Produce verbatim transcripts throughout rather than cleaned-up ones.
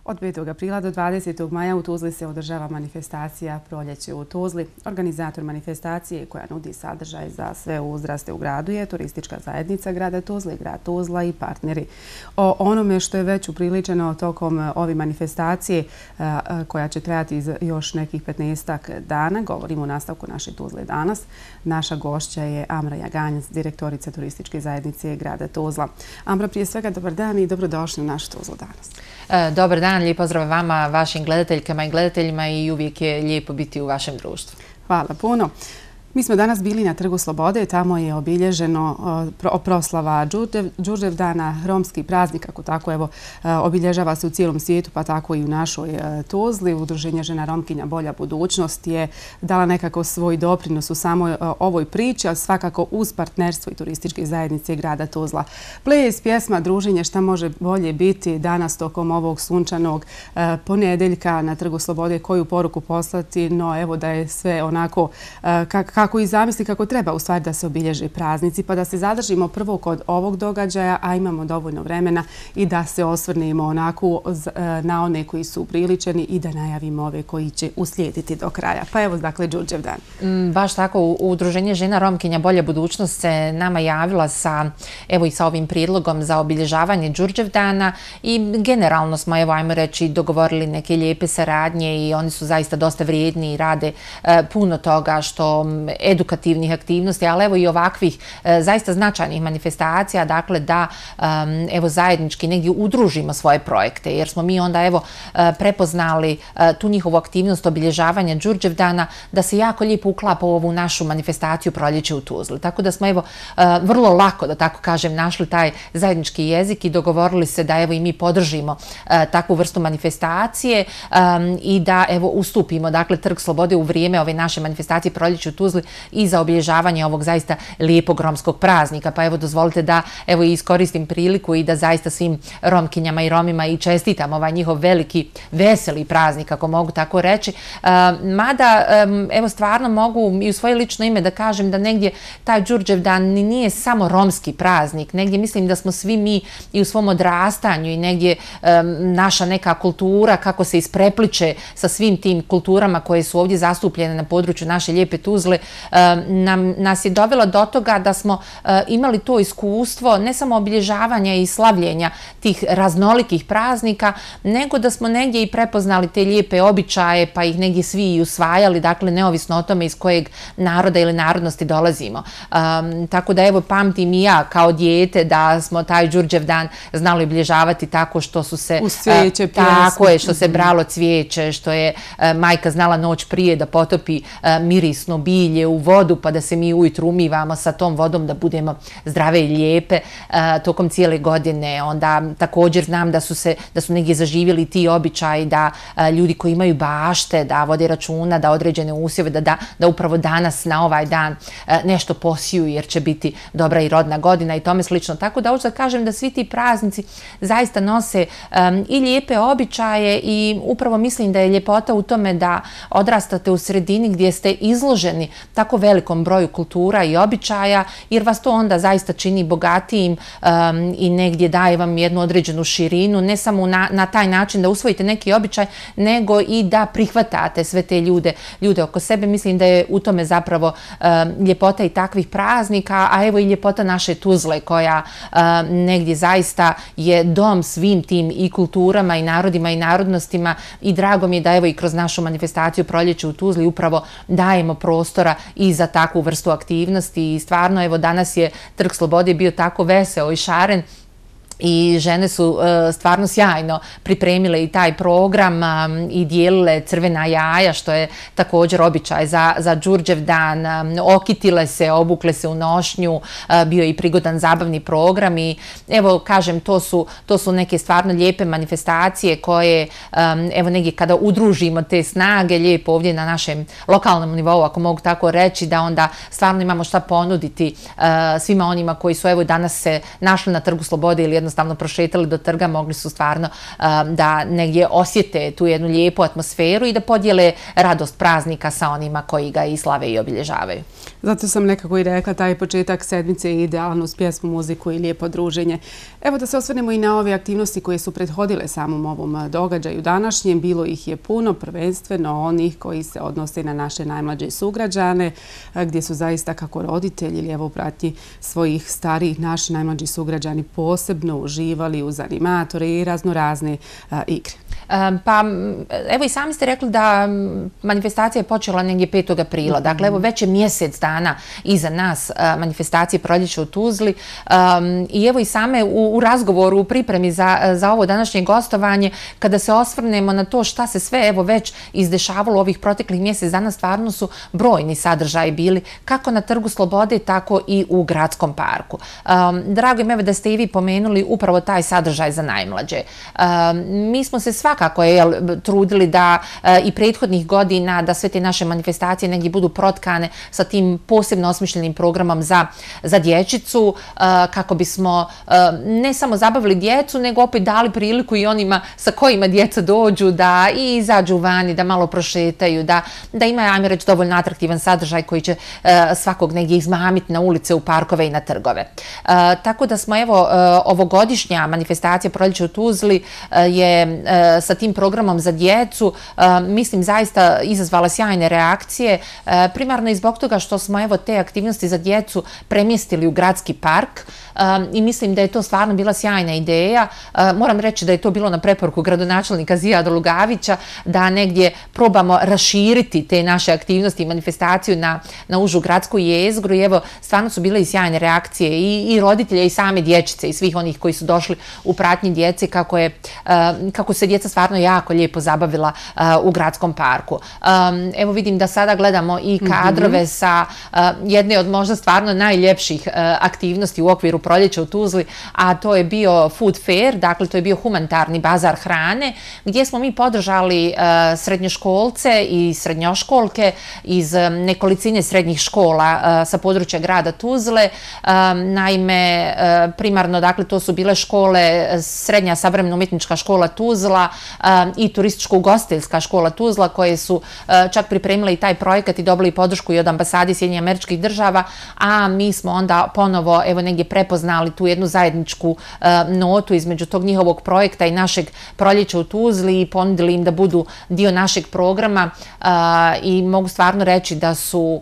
Od petog aprila do dvadesetog maja u Tuzli se održava manifestacija Proljeće u Tuzli. Organizator manifestacije koja nudi sadržaj za sve uzraste u gradu je turistička zajednica grada Tuzle, grad Tuzla i partneri. O onome što je već upriličeno tokom ove manifestacije koja će trajati još nekih petnaestak dana, govorimo u nastavku naše Tuzle danas. Naša gošća je Amra Jaganjac, direktorica turističke zajednice grada Tuzla. Amra, prije svega dobar dan i dobrodošli u našu Tuzlu danas. Dobar dan, lijep pozdrav vama, vašim gledateljkama i gledateljima i uvijek je lijepo biti u vašem društvu. Hvala puno. Mi smo danas bili na Trgu Slobode, tamo je obilježeno proslava Đurđevdana, romski praznik, kako tako evo obilježava se u cijelom svijetu, pa tako i u našoj Tuzli. Udruženje žena Romkinja Bolja budućnost je dala nekako svoj doprinos u samoj ovoj priči, ali svakako uz partnerstvo i turističke zajednice grada Tuzla. Ples, pjesma, druženje, šta može bolje biti danas tokom ovog sunčanog ponedeljka na Trgu Slobode, koju poruku poslati, no evo da je sve onako kako kako i zamisli kako treba u stvari da se obilježe praznici, pa da se zadržimo prvo kod ovog događaja, a imamo dovoljno vremena i da se osvrnemo onako na one koji su upriličeni i da najavimo ove koji će uslijediti do kraja. Pa evo, dakle, Đurđevdan. Baš tako, Udruženje žena Romkinja Bolja budućnost se nama javila sa, evo i sa ovim prijedlogom za obilježavanje Đurđevdana i generalno smo, evo, ajmo reći, dogovorili neke lijepe saradnje i oni su zaista dosta vrijedni i rade puno toga što edukativnih aktivnosti, ali evo i ovakvih zaista značajnih manifestacija, dakle da evo zajednički negdje udružimo svoje projekte, jer smo mi onda evo prepoznali tu njihovu aktivnost obilježavanja Đurđevdana da se jako lijepo uklapa u ovu našu manifestaciju Proljeće u Tuzli. Tako da smo evo vrlo lako, da tako kažem, našli taj zajednički jezik i dogovorili se da evo i mi podržimo takvu vrstu manifestacije i da evo ustupimo, dakle, Trg Slobode u vrijeme ove naše manifestacije Proljeće u Tuzli i za obilježavanje ovog zaista lijepog romskog praznika. Pa evo dozvolite da evo iskoristim priliku i da zaista svim Romkinjama i Romima i čestitam ovaj njihov veliki veseli praznik, ako mogu tako reći. Mada evo stvarno mogu i u svoje lično ime da kažem da negdje taj Đurđevdan nije samo romski praznik. Negdje mislim da smo svi mi i u svom odrastanju i negdje naša neka kultura kako se isprepliče sa svim tim kulturama koje su ovdje zastupljene na području naše lijepe Tuzle, nam, nas je dovela do toga da smo imali to iskustvo ne samo obilježavanja i slavljenja tih raznolikih praznika, nego da smo negdje i prepoznali te lijepe običaje pa ih negdje svi i usvajali, dakle neovisno o tome iz kojeg naroda ili narodnosti dolazimo. Um, tako da evo pamtim i ja kao dijete da smo taj Đurđevdan znali obilježavati tako što su se uz cvijeće, tako je, što se bralo cvijeće, što je majka znala noć prije da potopi mirisno bilje u vodu pa da se mi ujutru umivamo sa tom vodom da budemo zdrave i lijepe tokom cijele godine. Onda također znam da su se da su negdje zaživjeli ti običaji da ljudi koji imaju bašte da vode računa da određene usjeve da, da, da upravo danas na ovaj dan nešto posiju jer će biti dobra i rodna godina i tome slično. Tako da hoću da kažem da svi ti praznici zaista nose um, i lijepe običaje i upravo mislim da je ljepota u tome da odrastate u sredini gdje ste izloženi tako velikom broju kultura i običaja, jer vas to onda zaista čini bogatijim um, i negdje daje vam jednu određenu širinu, ne samo na, na taj način da usvojite neki običaj, nego i da prihvatate sve te ljude, ljude oko sebe. Mislim da je u tome zapravo um, ljepota i takvih praznika, a evo i ljepota naše Tuzle koja um, negdje zaista je dom svim tim i kulturama i narodima i narodnostima i drago mi je da evo i kroz našu manifestaciju Proljeće u Tuzli upravo dajemo prostora i za takvu vrstu aktivnosti i stvarno evo danas je Trg Slobode bio tako veseo i šaren i žene su uh, stvarno sjajno pripremile i taj program um, i dijelile crvena jaja, što je također običaj za, za Đurđevdan. Um, okitile se, obukle se u nošnju, uh, bio je i prigodan zabavni program i evo kažem to su, to su neke stvarno lijepe manifestacije koje um, evo negdje kada udružimo te snage lijepo ovdje na našem lokalnom nivou, ako mogu tako reći, da onda stvarno imamo šta ponuditi uh, svima onima koji su evo danas se našli na Trgu Slobode ili jednostavno prošetali do trga, mogli su stvarno um, da negdje osjete tu jednu lijepu atmosferu i da podijele radost praznika sa onima koji ga i slave i obilježavaju. Zato sam nekako i rekla, taj početak sedmice je idealan uz pjesmu, muziku i lijepo druženje. Evo da se osvrnemo i na ove aktivnosti koje su prethodile samom ovom događaju današnjem. Bilo ih je puno, prvenstveno onih koji se odnose na naše najmlađe sugrađane, gdje su zaista kako roditelji ili evo u pratnji svojih starijih naši najmlađi sugrađani posebno uživali uz animatore i raznorazne igre. Pa evo i sami ste rekli da manifestacija je počela negdje petog aprila. Dakle, evo već je mjesec dana iza nas manifestacije Proljeće u Tuzli i evo i same u razgovoru, u pripremi za ovo današnje gostovanje, kada se osvrnemo na to šta se sve evo već izdešavalo ovih proteklih mjesec dana, stvarno su brojni sadržaji bili kako na Trgu Slobode, tako i u Gradskom parku. Drago im evo da ste i vi pomenuli upravo taj sadržaj za najmlađe. Mi smo se svakako je trudili da i prethodnih godina da sve te naše manifestacije negdje budu protkane sa tim posebno osmišljenim programom za, za dječicu, kako bismo ne samo zabavili djecu, nego opet dali priliku i onima sa kojima djeca dođu da i izađu vani, da malo prošetaju, da, da ima, ajme reći, dovoljno atraktivan sadržaj koji će svakog negdje izmamiti na ulice, u parkove i na trgove. Tako da smo, evo, ovogodišnja manifestacija Proljeće u Tuzli je sa tim programom za djecu, mislim, zaista izazvala sjajne reakcije, primarno i zbog toga što smo evo te aktivnosti za djecu premjestili u Gradski park i mislim da je to stvarno bila sjajna ideja. Moram reći da je to bilo na preporuku gradonačelnika Zijada Lugavića, da negdje probamo raširiti te naše aktivnosti i manifestaciju na, na užu gradsku jezgru i evo stvarno su bile i sjajne reakcije i, i roditelja i same dječice i svih onih koji su došli u pratnji djece, kako, je, kako se djeca stvarno jako lijepo zabavila u Gradskom parku. Evo vidim da sada gledamo i kadrove mm-hmm. sa jedne od možda stvarno najljepših aktivnosti u okviru Proljeća u Tuzli, a to je bio Food Fair, dakle to je bio humanitarni bazar hrane, gdje smo mi podržali srednjoškolce i srednjoškolke iz nekolicine srednjih škola sa područja grada Tuzle. Naime, primarno, dakle, to su bile škole, Srednja savremena umjetnička škola Tuzla i Turističko-ugostiteljska škola Tuzla, koje su čak pripremile i taj projekat i dobili podršku i od ambasade Sjedinjenih Američkih Država, a mi smo onda ponovo evo negdje prepoznali tu jednu zajedničku notu između tog njihovog projekta i našeg Proljeća u Tuzli i ponudili im da budu dio našeg programa i mogu stvarno reći da su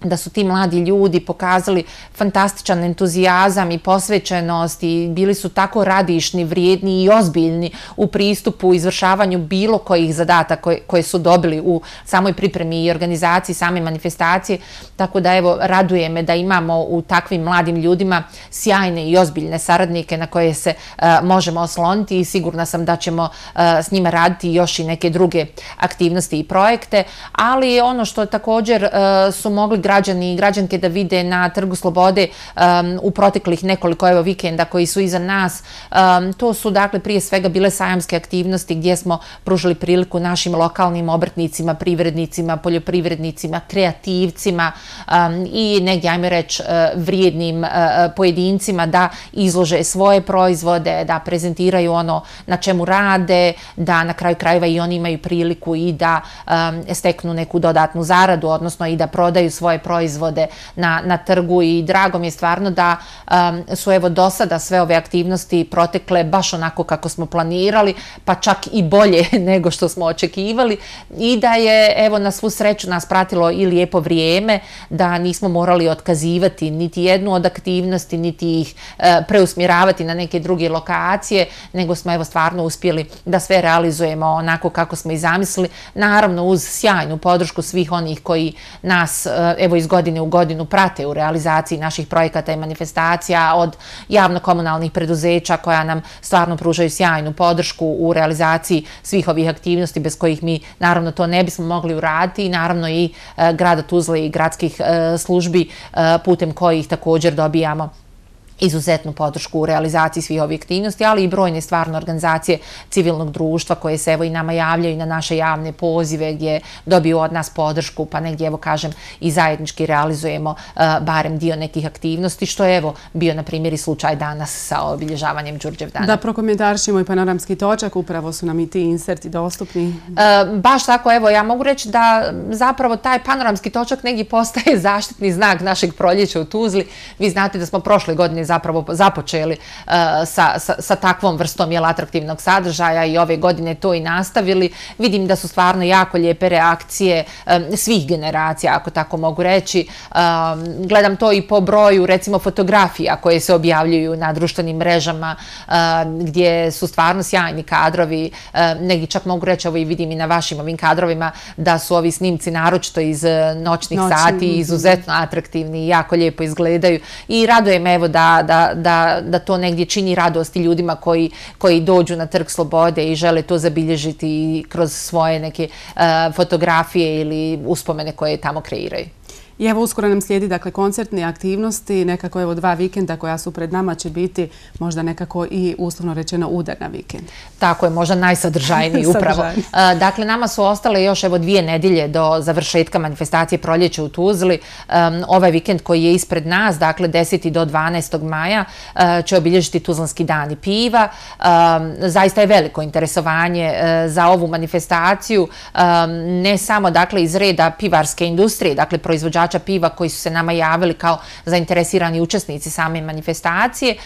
da su ti mladi ljudi pokazali fantastičan entuzijazam i posvećenost i bili su tako radišni, vrijedni i ozbiljni u pristupu, izvršavanju bilo kojih zadataka koje, koje su dobili u samoj pripremi i organizaciji same manifestacije. Tako da evo, raduje me da imamo u takvim mladim ljudima sjajne i ozbiljne saradnike na koje se uh, možemo osloniti i sigurna sam da ćemo uh, s njima raditi još i neke druge aktivnosti i projekte, ali ono što također uh, su mogli građani i građanke da vide na Trgu Slobode um, u proteklih nekoliko evo vikenda koji su iza nas. Um, to su dakle prije svega bile sajamske aktivnosti gdje smo pružili priliku našim lokalnim obrtnicima, privrednicima, poljoprivrednicima, kreativcima um, i negdje, ajme reći, uh, vrijednim uh, pojedincima da izlože svoje proizvode, da prezentiraju ono na čemu rade, da na kraju krajeva i oni imaju priliku i da um, steknu neku dodatnu zaradu, odnosno i da prodaju svoje proizvode na, na trgu i drago mi je stvarno da um, su evo do sada sve ove aktivnosti protekle baš onako kako smo planirali, pa čak i bolje nego što smo očekivali i da je evo na svu sreću nas pratilo i lijepo vrijeme, da nismo morali otkazivati niti jednu od aktivnosti, niti ih uh, preusmjeravati na neke druge lokacije, nego smo evo stvarno uspjeli da sve realizujemo onako kako smo i zamislili, naravno uz sjajnu podršku svih onih koji nas uh, evo iz godine u godinu prate u realizaciji naših projekata i manifestacija, od javno-komunalnih preduzeća koja nam stvarno pružaju sjajnu podršku u realizaciji svih ovih aktivnosti bez kojih mi naravno to ne bismo mogli uraditi i naravno i e, grada Tuzle i gradskih e, službi e, putem kojih također dobijamo izuzetnu podršku u realizaciji svih ovih aktivnosti, ali i brojne stvarno organizacije civilnog društva koje se evo i nama javljaju na naše javne pozive gdje dobiju od nas podršku, pa negdje evo kažem i zajednički realizujemo uh, barem dio nekih aktivnosti, što je evo bio na primjer i slučaj danas sa obilježavanjem Đurđevdana. Da prokomentarišemo i panoramski točak, upravo su nam i ti inserti dostupni. Uh, baš tako, evo ja mogu reći da zapravo taj panoramski točak negdje postaje zaštitni znak našeg proljeća u Tuzli. Vi znate da smo prošle godine zapravo započeli uh, sa, sa, sa takvom vrstom jel, atraktivnog sadržaja i ove godine to i nastavili. Vidim da su stvarno jako lijepe reakcije um, svih generacija, ako tako mogu reći. Um, gledam to i po broju, recimo, fotografija koje se objavljuju na društvenim mrežama, um, gdje su stvarno sjajni kadrovi. Um, negdje čak mogu reći, ovo i vidim i na vašim ovim kadrovima, da su ovi snimci naročito iz noćnih Noćni. sati izuzetno atraktivni i jako lijepo izgledaju. I raduje me evo da Da, da, da to negdje čini radost i ljudima koji, koji dođu na Trg slobode i žele to zabilježiti kroz svoje neke uh, fotografije ili uspomene koje tamo kreiraju. I evo uskoro nam slijedi dakle koncertne aktivnosti, nekako evo dva vikenda koja su pred nama će biti možda nekako i uslovno rečeno udar na vikend. Tako je, možda najsadržajniji upravo. Dakle, nama su ostale još evo dvije nedjelje do završetka manifestacije Proljeće u Tuzli. Um, ovaj vikend koji je ispred nas, dakle desetog do dvanaestog maja, uh, će obilježiti Tuzlanski dani piva. Um, zaista je veliko interesovanje uh, za ovu manifestaciju, um, ne samo dakle iz reda pivarske industrije, dakle proizvođača piva koji su se nama javili kao zainteresirani učesnici same manifestacije,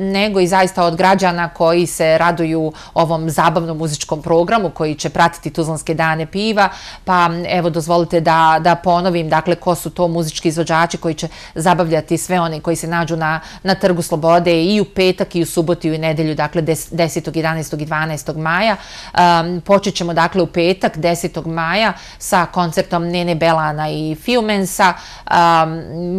nego i zaista od građana koji se raduju ovom zabavnom muzičkom programu koji će pratiti Tuzlanske dane piva. Pa evo dozvolite da, da ponovim dakle ko su to muzički izvođači koji će zabavljati sve one koji se nađu na, na Trgu slobode i u petak i u subotu i u nedelju, dakle desetog, jedanaestog i dvanaestog maja. Um, počet ćemo dakle u petak desetog maja sa koncertom Nene Belana i Fiumen. Um,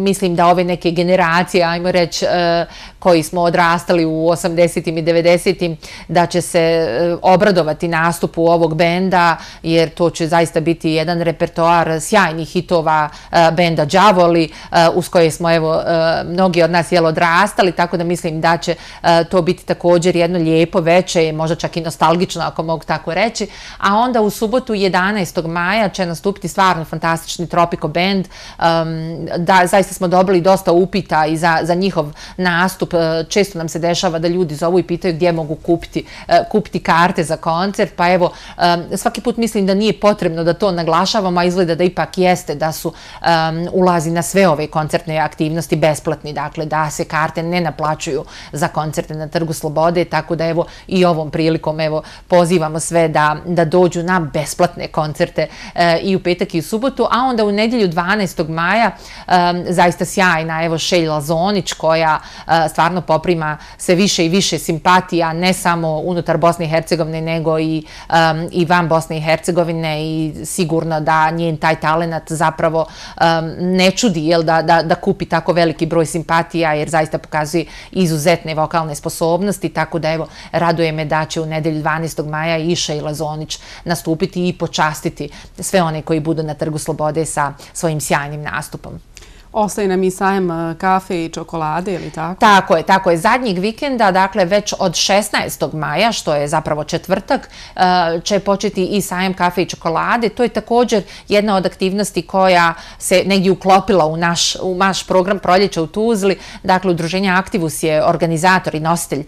mislim da ove neke generacije, ajmo reći, uh, koji smo odrastali u osamdesetim i devedesetim, da će se uh, obradovati nastupu ovog benda, jer to će zaista biti jedan repertoar sjajnih hitova uh, benda Đavoli, uh, uz koje smo evo, uh, mnogi od nas jel odrastali, tako da mislim da će uh, to biti također jedno lijepo veče, možda čak i nostalgično, ako mogu tako reći. A onda u subotu jedanaestog maja će nastupiti stvarno fantastični Tropico band. Um, da, zaista smo dobili dosta upita i za, za njihov nastup. Često nam se dešava da ljudi zovu i pitaju gdje mogu kupiti, uh, kupiti karte za koncert, pa evo um, svaki put mislim da nije potrebno da to naglašavamo, a izgleda da ipak jeste, da su um, ulazi na sve ove koncertne aktivnosti besplatni, dakle da se karte ne naplaćuju za koncerte na Trgu slobode, tako da evo i ovom prilikom evo pozivamo sve da, da dođu na besplatne koncerte uh, i u petak i u subotu, a onda u nedjelju dvanaestog maja um, zaista sjajna evo Šeljla Zonić koja uh, stvarno poprima sve više i više simpatija ne samo unutar Bosne i Hercegovine nego i, um, i van Bosne i Hercegovine i sigurno da njen taj talenat zapravo um, ne čudi jel, da, da, da kupi tako veliki broj simpatija jer zaista pokazuje izuzetne vokalne sposobnosti, tako da evo raduje me da će u nedelju dvanaestog maja i Šeljla Zonić nastupiti i počastiti sve one koji budu na Trgu slobode sa svojim sjajnim nastupom. Ostaje nam i sajam kafe i čokolade, ili tako? Tako je, tako je. Zadnjeg vikenda, dakle već od šesnaestog maja, što je zapravo četvrtak, će početi i sajam kafe i čokolade. To je također jedna od aktivnosti koja se negdje uklopila u naš, u naš program Proljeća u Tuzli. Dakle, Udruženje Aktivus je organizator i nositelj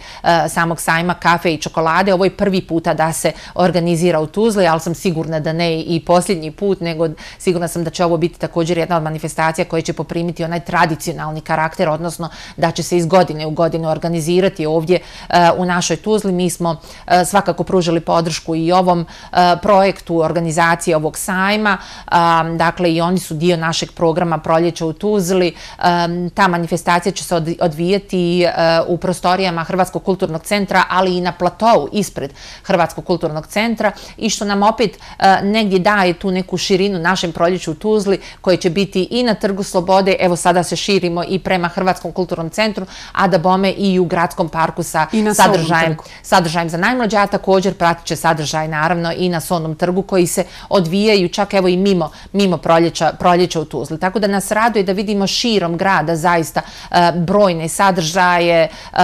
samog sajma kafe i čokolade. Ovo je prvi puta da se organizira u Tuzli, ali sam sigurna da ne i posljednji put, nego sigurna sam da će ovo biti također jedna od manifestacija koja će poprimiti primiti onaj tradicionalni karakter, odnosno da će se iz godine u godinu organizirati ovdje uh, u našoj Tuzli. Mi smo uh, svakako pružili podršku i ovom uh, projektu organizacije ovog sajma, um, dakle i oni su dio našeg programa Proljeća u Tuzli. Um, ta manifestacija će se od, odvijati uh, u prostorijama Hrvatskog kulturnog centra, ali i na platovu ispred Hrvatskog kulturnog centra i što nam opet uh, negdje daje tu neku širinu našem Proljeću u Tuzli koje će biti i na Trgu slobode slobode, evo sada se širimo i prema Hrvatskom kulturnom centru, a da bome i u gradskom parku sa sadržajem, sadržajem za najmlađe, a također pratit će sadržaj naravno i na Solnom trgu koji se odvijaju čak evo i mimo, mimo proljeća, proljeća u Tuzli. Tako da nas raduje da vidimo širom grada zaista uh, brojne sadržaje um,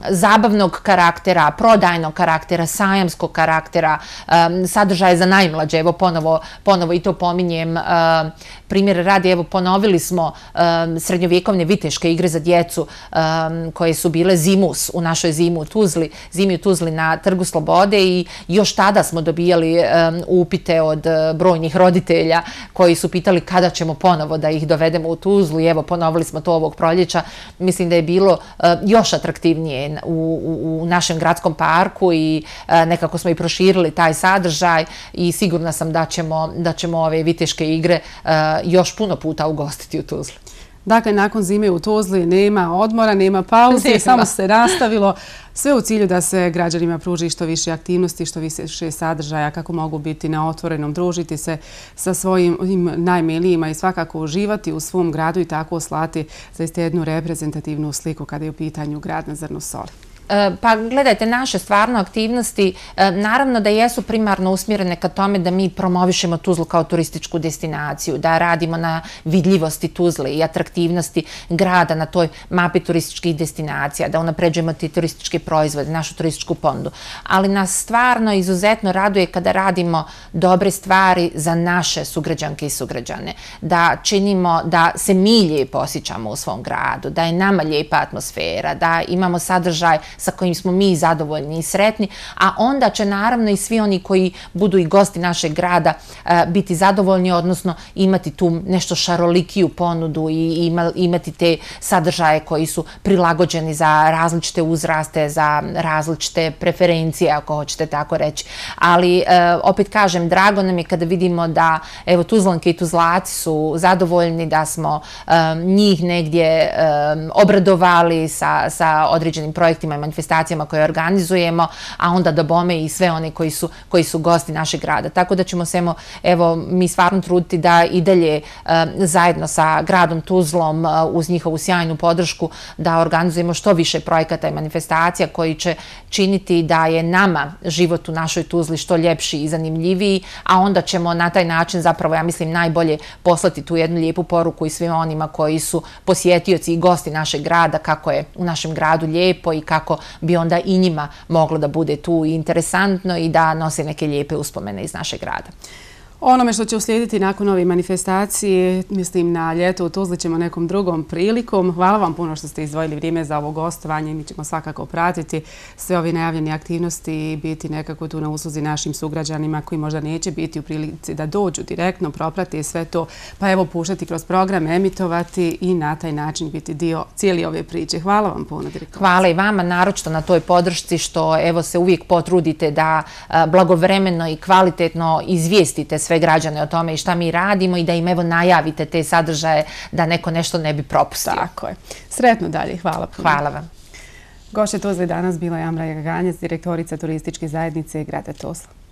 zabavnog karaktera, prodajnog karaktera, sajamskog karaktera, um, sadržaje za najmlađe, evo ponovo, ponovo i to pominjem, uh, primjer radi, evo ponovili smo um, srednjovjekovne viteške igre za djecu um, koje su bile zimus u našoj zimu u Tuzli, zimi u Tuzli na Trgu slobode i još tada smo dobijali um, upite od uh, brojnih roditelja koji su pitali kada ćemo ponovo da ih dovedemo u Tuzlu i evo ponovili smo to ovog proljeća. Mislim da je bilo uh, još atraktivnije u, u, u našem gradskom parku i uh, nekako smo i proširili taj sadržaj i sigurna sam da ćemo, da ćemo ove viteške igre uh, još puno puta ugostiti u Tuzli. Dakle, nakon zime u Tuzli nema odmora, nema pauze, nema. Samo se nastavilo. Sve u cilju da se građanima pruži što više aktivnosti, što više sadržaja, kako mogu biti na otvorenom, družiti se sa svojim najmilijima i svakako uživati u svom gradu i tako slati zaista jednu reprezentativnu sliku kada je u pitanju grad na zrnu soli. Pa gledajte, naše stvarno aktivnosti naravno da jesu primarno usmjerene ka tome da mi promovišemo Tuzlu kao turističku destinaciju, da radimo na vidljivosti Tuzle i atraktivnosti grada na toj mapi turističkih destinacija, da unapređujemo ti turističke proizvode, našu turističku ponudu. Ali nas stvarno izuzetno raduje kada radimo dobre stvari za naše sugrađanke i sugrađane, da činimo da se mi lijepo osjećamo u svom gradu, da je nama lijepa atmosfera, da imamo sadržaj sa kojim smo mi zadovoljni i sretni, a onda će naravno i svi oni koji budu i gosti našeg grada biti zadovoljni, odnosno imati tu nešto šarolikiju ponudu i imati te sadržaje koji su prilagođeni za različite uzraste, za različite preferencije, ako hoćete tako reći. Ali opet kažem, drago nam je kada vidimo da evo Tuzlanke i Tuzlaci su zadovoljni, da smo njih negdje obradovali sa, sa određenim projektima i manifestacijama koje organizujemo, a onda da bome i sve one koji su, koji su gosti našeg grada. Tako da ćemo se evo, mi stvarno truditi da i dalje uh, zajedno sa gradom Tuzlom uh, uz njihovu sjajnu podršku da organizujemo što više projekata i manifestacija koji će činiti da je nama život u našoj Tuzli što ljepši i zanimljiviji, a onda ćemo na taj način zapravo, ja mislim, najbolje poslati tu jednu lijepu poruku i svima onima koji su posjetioci i gosti našeg grada, kako je u našem gradu lijepo i kako bi onda i njima moglo da bude tu interesantno i da nose neke lijepe uspomene iz našeg grada. Onome što će uslijediti nakon ove manifestacije, mislim na ljeto u Tuzli ćemo nekom drugom prilikom. Hvala vam puno što ste izdvojili vrijeme za ovo gostovanje i mi ćemo svakako pratiti sve ove najavljene aktivnosti i biti nekako tu na usluzi našim sugrađanima koji možda neće biti u prilici da dođu direktno, proprati sve to, pa evo puštati kroz program, emitovati i na taj način biti dio cijeli ove priče. Hvala vam puno, direktorice. Hvala i vama, naročito na toj podršci što evo se uvijek potrudite da blagovremeno i kvalitetno izvijestite sve građane o tome i šta mi radimo i da im evo najavite te sadržaje da neko nešto ne bi propustio. Tako je. Sretno dalje. Hvala puno. Hvala vam. Gošća Tuzli danas bila je Amra Gaganjec, direktorica turističke zajednice grada Tuzla.